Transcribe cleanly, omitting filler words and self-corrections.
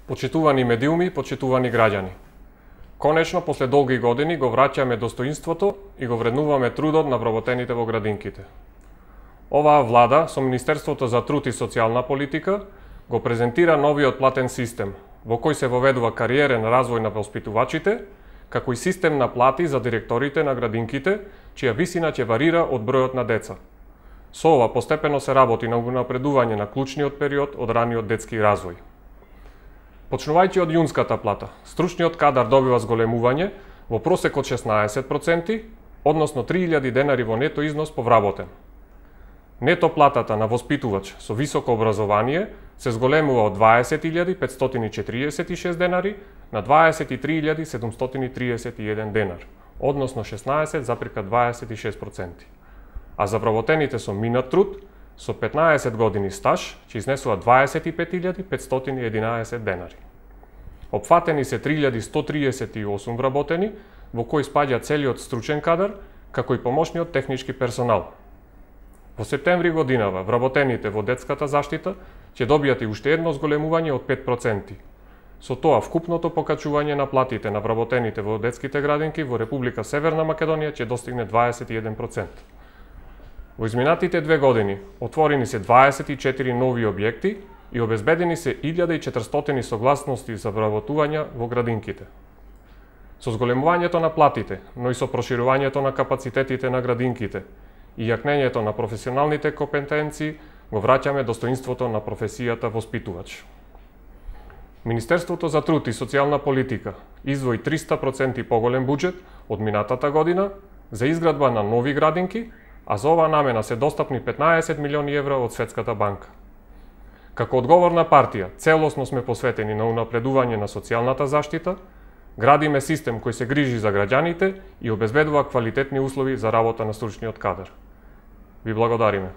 Почитувани медиуми, почитувани граѓани. Конечно, после долги години го враќаме достоинството и го вреднуваме трудот на вработените во градинките. Оваа влада со Министерството за труд и социјална политика го презентира новиот платен систем, во кој се воведува кариерен развој на воспитувачите, како и систем на плати за директорите на градинките, чија висина ќе варира од бројот на деца. Со ова постепено се работи на унапредување на клучниот период од раниот детски развој. Почнувајќи од јунската плата, стручниот кадар добива зголемување во просек од 16%, односно 3000 денари во нето износ по вработен. Нето платата на воспитувач со високо образование се зголемува од 20.546 денари на 23.731 денар, односно 16,26%. А за вработените со минат труд, со 15 години стаж, ќе изнесува 25.511 денари. Опфатени се 3138 вработени, во кои спаѓа целиот стручен кадар, како и помошниот технички персонал. Во септември годинава, вработените во детската заштита ќе добијат и уште едно зголемување од 5%. Со тоа, вкупното покачување на платите на вработените во детските градинки во Република Северна Македонија ќе достигне 21%. Во изминатите 2 години отворени се 24 нови објекти и обезбедени се 1400 согласности за вработување во градинките. Со зголемувањето на платите, но и со проширувањето на капацитетите на градинките и јакнењето на професионалните компетенции, го враќаме достоинството на професијата воспитувач. Министерството за труд и социјална политика издвои 300% поголем буџет од минатата година за изградба на нови градинки, а за оваа намена се достапни 15 милиони евра од Светската банка. Како одговорна партија, целосно сме посветени на унапредување на социјалната заштита, градиме систем кој се грижи за граѓаните и обезбедува квалитетни услови за работа на стручниот кадар. Ви благодариме.